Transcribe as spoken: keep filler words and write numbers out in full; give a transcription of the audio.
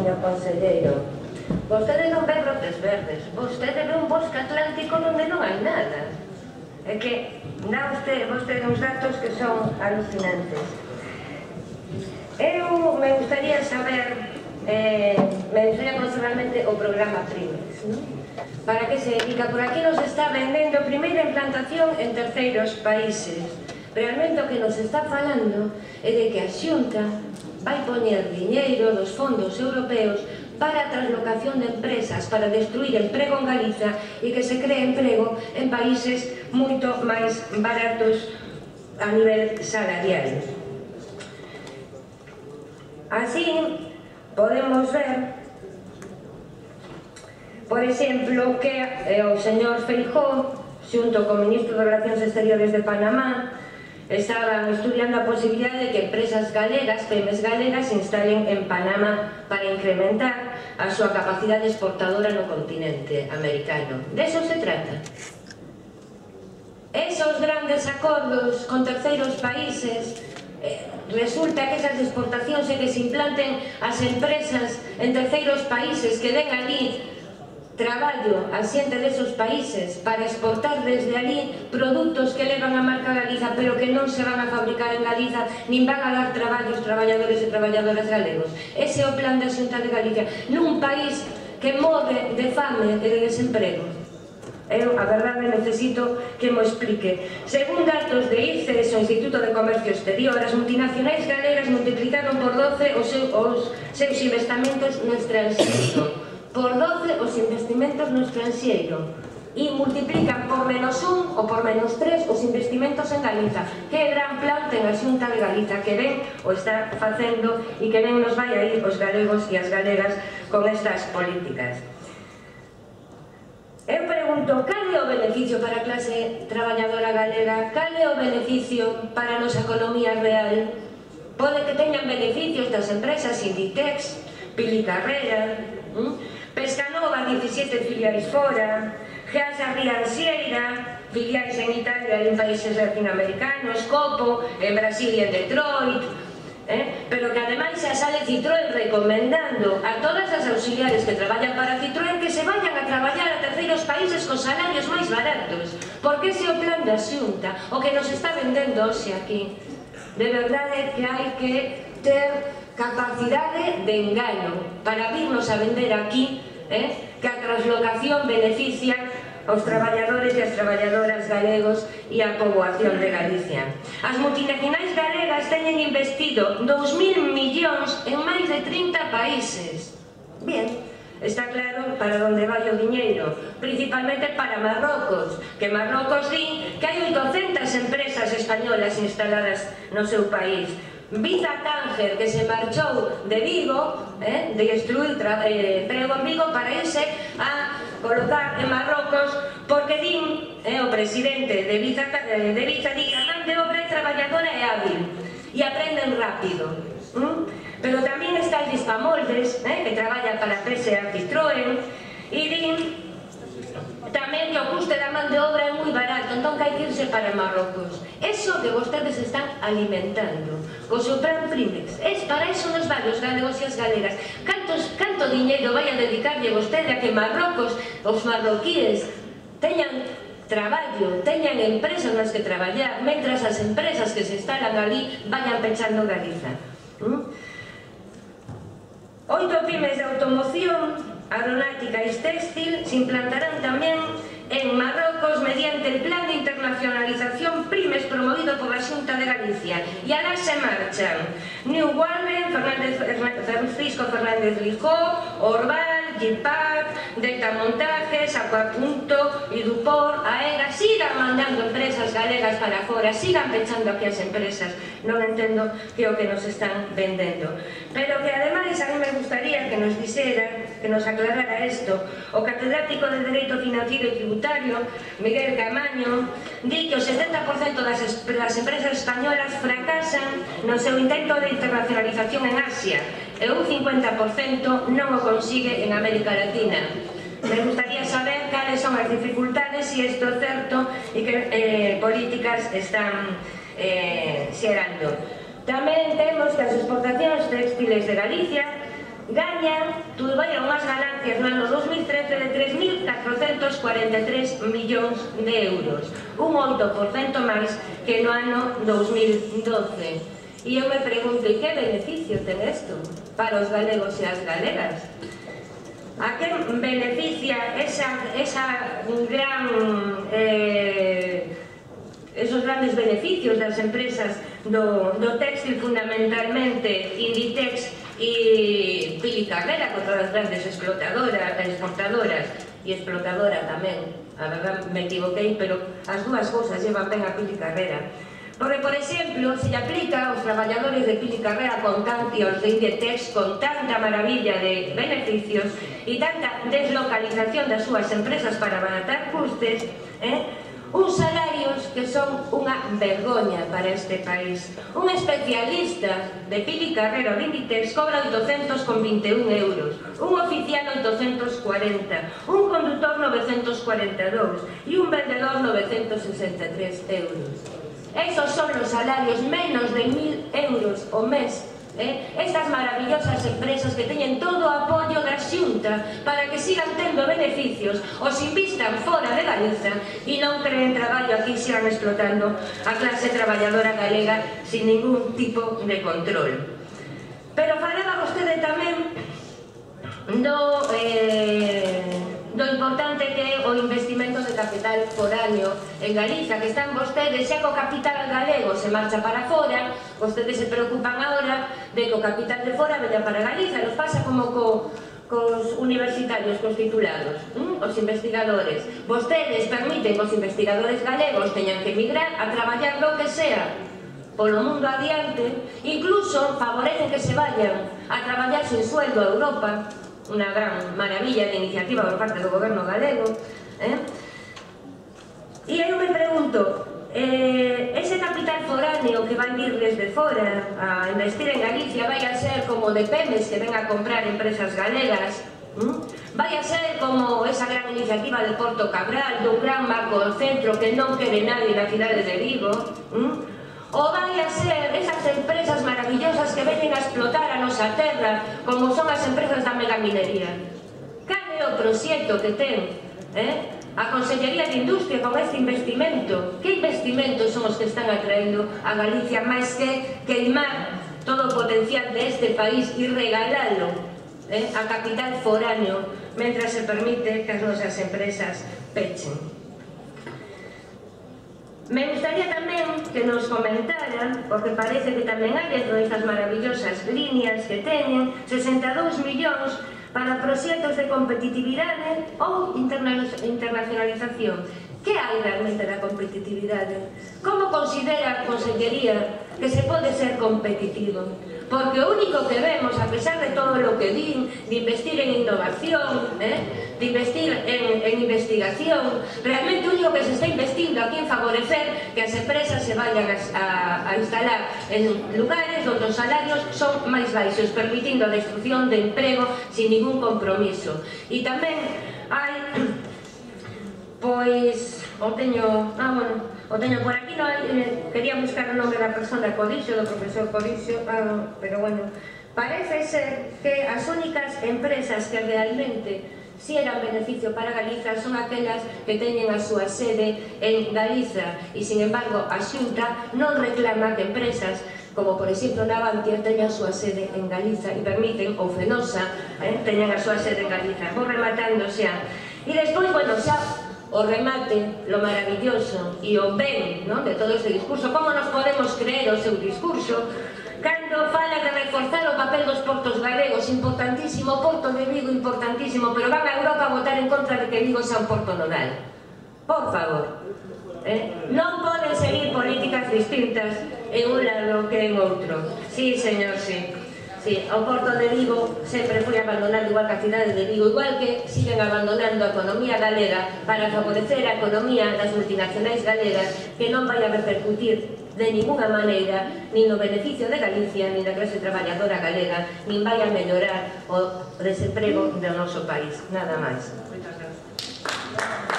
señor conselleiro. Vostede non ve brotes verdes, vostede ve un bosque atlántico onde non hai nada. É que dá vostede, vostede uns datos que son alucinantes. Eu me gustaría saber, eh, me gustaría conocer realmente o programa Primex, ¿no? Para que se dedica? Por aquí nos está vendendo primeira implantación en terceiros países. Realmente o que nos está falando é de que a Xunta vai poñer diñeiro dos fondos europeos para a translocación de empresas, para destruir emprego en Galiza e que se cree emprego en países moito máis baratos a nivel salarial. Así, podemos ver, por exemplo, que o señor Feijóo, xunto co ministro de Relacións Exteriores de Panamá, estaban estudiando a posibilidade de que empresas galegas, pymes galegas, se instalen en Panamá para incrementar a súa capacidade exportadora no continente americano. De eso se trata. Esos grandes acordos con terceiros países, eh, resulta que esas exportacións e que se implanten as empresas en terceiros países, que den ali traballo a xente desos países para exportar desde ali produtos que levan a marca Galiza, pero que non se van a fabricar en Galiza, nin van a dar traballo aos traballadores e traballadoras galegos. Ese é o plan da Xunta de Galicia, nun país que morre de fame e de desemprego. Eu, a verdade, necesito que mo explique. Según datos de I C E S, o Instituto de Comercio Exterior, as multinacionais galegas multiplicaron por doce os seus investimentos no estranxeiro. Por doce os investimentos no estranxeiro e multiplican por menos un ou por menos tres os investimentos en Galiza. Que gran plan ten a Xunta de Galiza, que ben o está facendo e que ben nos vai a ir os galegos e as galegas con estas políticas. Eu pregunto, cal é o beneficio para a clase traballadora galega? Cal é o beneficio para a nosa economía real? Pode que teñan beneficios das empresas Inditex, Pili Carrera, Pescanova, diecisiete filiais fora, Geasa Rianxeira, filiais en Italia e en países latinoamericanos, Copo, en Brasil e en Detroit, eh? pero que ademais xa sale Citroën recomendando a todas as auxiliares que traballan para Citroën que se vayan a traballar a terceiros países con salarios máis baratos, porque ese é o plan da Xunta, o que nos está vendendo hoxe aquí. De verdade que hai que ter capacidade de engano para virnos a vender aquí eh, que a translocación beneficia aos traballadores e as traballadoras galegos e a poboación de Galicia. As multinacionais galegas teñen investido dous mil millóns en máis de trinta países. Bien, está claro para onde vai o diñeiro, principalmente para Marrocos, que Marrocos di que hai oitocentas empresas españolas instaladas no seu país. Visa Tánger, que se marchou de Vigo, eh, de destruir eh, emprego en Vigo para irse a colocar en Marrocos, porque din, eh, o presidente de Visa, eh, de Visa di que a man de obra é traballadora e hábil e aprenden rápido. ¿Mm? Pero tamén está el Dispamoldes, eh, que traballa para P S A Citroën, e din tamén que o custe da man de obra é moi barato, entón que hai que irse para Marrocos. Eso que vostedes están alimentando co seu plan Primex, es para eso nos vai os galegos e as galegas. Cantos, canto diñeiro vai a dedicarlle vostede a que Marrocos, os marroquíes, teñan traballo, teñan empresas nas que traballar, mentras as empresas que se instalan ali vayan pechando Galiza. ¿Mm? Oito pymes de automoción, aeronáutica e textil se implantarán tamén en Marrocos mediante el Plan de Internacionalización Primes promovido por la Xunta de Galicia. E alá se marchan New Wallen, Francisco Fernández Lijó, Orval, Gipar, Delta Montajes, Aquapunto, Idupor, Aega. Sigan mandando empresas galegas para fora, sigan pechando aquí as empresas. Non entendo que é o que nos están vendendo. Pero que ademais a mí me gustaría que nos dixera, que nos aclarara isto, o catedrático de Dereito Financiero e Tributario, Miguel Camaño, di que o setenta por cento das, das empresas españolas fracasan no seu intento de internacionalización en Asia e un cincuenta por cento non o consigue en América Latina. Me gustaría saber cales son as dificultades, se isto é certo e que eh, políticas están eh, xerando. Tamén temos que as exportacións textiles de Galicia gaña, tuveron unhas ganancias no ano dos mil trece de tres mil catrocentos cuarenta e tres millóns de euros, un oito por cento máis que no ano dos mil doce. E eu me pregunto, e que beneficio ten isto para os galegos e as galegas? A que beneficia esa, esa gran, eh, esos grandes beneficios das empresas do, do textil, fundamentalmente Inditex e Pilicarrera, contra as grandes explotadoras, exportadoras e explotadora tamén, a verdad me equivoquei, pero as dúas cousas llevan ben a Pilicarrera. Porque, por exemplo, se lle aplica aos traballadores de Pilicarrera con tanti, aos de Inditex con tanta maravilla de beneficios e tanta deslocalización das súas empresas para abaratar custes, eh? uns salarios que son unha vergoña para este país. Un especialista de Pilicarrera ou de Inditex cobra oitocentos vinte e un euros, un oficial oitocentos cuarenta, un conductor novecentos cuarenta e dous e un vendedor novecentos sesenta e tres euros. Esos son os salarios, menos de mil euros o mes. Eh? Estas maravillosas empresas que teñen todo o apoio da Xunta para que sigan tendo beneficios, os invistan fora de Galiza e non creen traballo aquí, sigan explotando a clase traballadora galega sin ningún tipo de control. Pero falaba vostede tamén do... Eh, do importante que é o investimento de capital foráneo en Galiza, que están vostedes, xa co capital galego se marcha para fora, vostedes se preocupan agora de que o capital de fora veña para Galiza, nos pasa como co, cos universitarios, cos titulados, ¿m? Os investigadores. Vostedes permiten que os investigadores galegos teñan que emigrar a traballar lo que sea polo mundo adiante, incluso favorecen que se vayan a traballar sin sueldo a Europa, unha gran maravilla de iniciativa por parte do goberno galego. Eh? E eu me pregunto, eh, ese capital foráneo que vai vir desde fora a investir en Galicia vai a ser como de Pemex que ven a comprar empresas galegas, ¿Mm? vai a ser como esa gran iniciativa de Porto Cabral, dun gran marco centro que non quere nadie na cidade de Vigo, ¿Mm? ou vai a ser esas empresas maravillosas que veñen a explotar a nosa terra, como son as empresas da megaminería. Cal é o proxecto que ten eh? a Consellería de Industria con este investimento? Que investimentos son os que están atraendo a Galicia máis que queimar todo o potencial deste país e regalalo eh? a capital foráneo, mentras se permite que as nosas empresas pechen? Me gustaría tamén que nos comentaran, porque parece que tamén hai dentro destas maravillosas líneas que teñen sesenta e dous millóns para proxectos de competitividade ou internacionalización. Que hai realmente da competitividade? Como considera a Consellería que se pode ser competitivo? Porque o único que vemos, a pesar de todo o que din, de investir en innovación, eh, de investir en, en investigación, realmente o único que se está investindo aquí en favorecer que as empresas se vayan a, a, a instalar en lugares onde os salarios son máis baixos, permitindo a destrucción de emprego sin ningún compromiso. E tamén hai... Pois, o teño, ah, bueno, o teño por aquí, no hai, eh, quería buscar o nome da persona Codixo, do profesor Codixo, ah, pero bueno, parece ser que as únicas empresas que realmente si eran beneficio para Galiza son aquelas que teñen a súa sede en Galiza e, sin embargo, a Xunta non reclama que empresas como, por exemplo, Navantia teñan a súa sede en Galiza e permiten, ou Fenosa, eh, teñan a súa sede en Galiza. Vou rematando xa. E despois, bueno, xa o remate, lo maravilloso e o ben, non, de todo este discurso. Como nos podemos creer o seu discurso cando fala de reforzar o papel dos portos galegos? Importantísimo, o Porto de Vigo importantísimo, pero van a Europa a votar en contra de que Vigo sea un porto nodal. Por favor, eh? non poden seguir políticas distintas en un lado que en outro. Sí, señor, sí. Sí, o Porto de Vigo sempre foi abandonado, igual que a cidade de Vigo, igual que siguen abandonando a economía galega para favorecer a economía das multinacionais galegas, que non vai a repercutir de ninguna maneira nin no beneficio de Galicia, nin da clase traballadora galega, nin vai a mellorar o desemprego do noso país. Nada máis. Moitas gracias.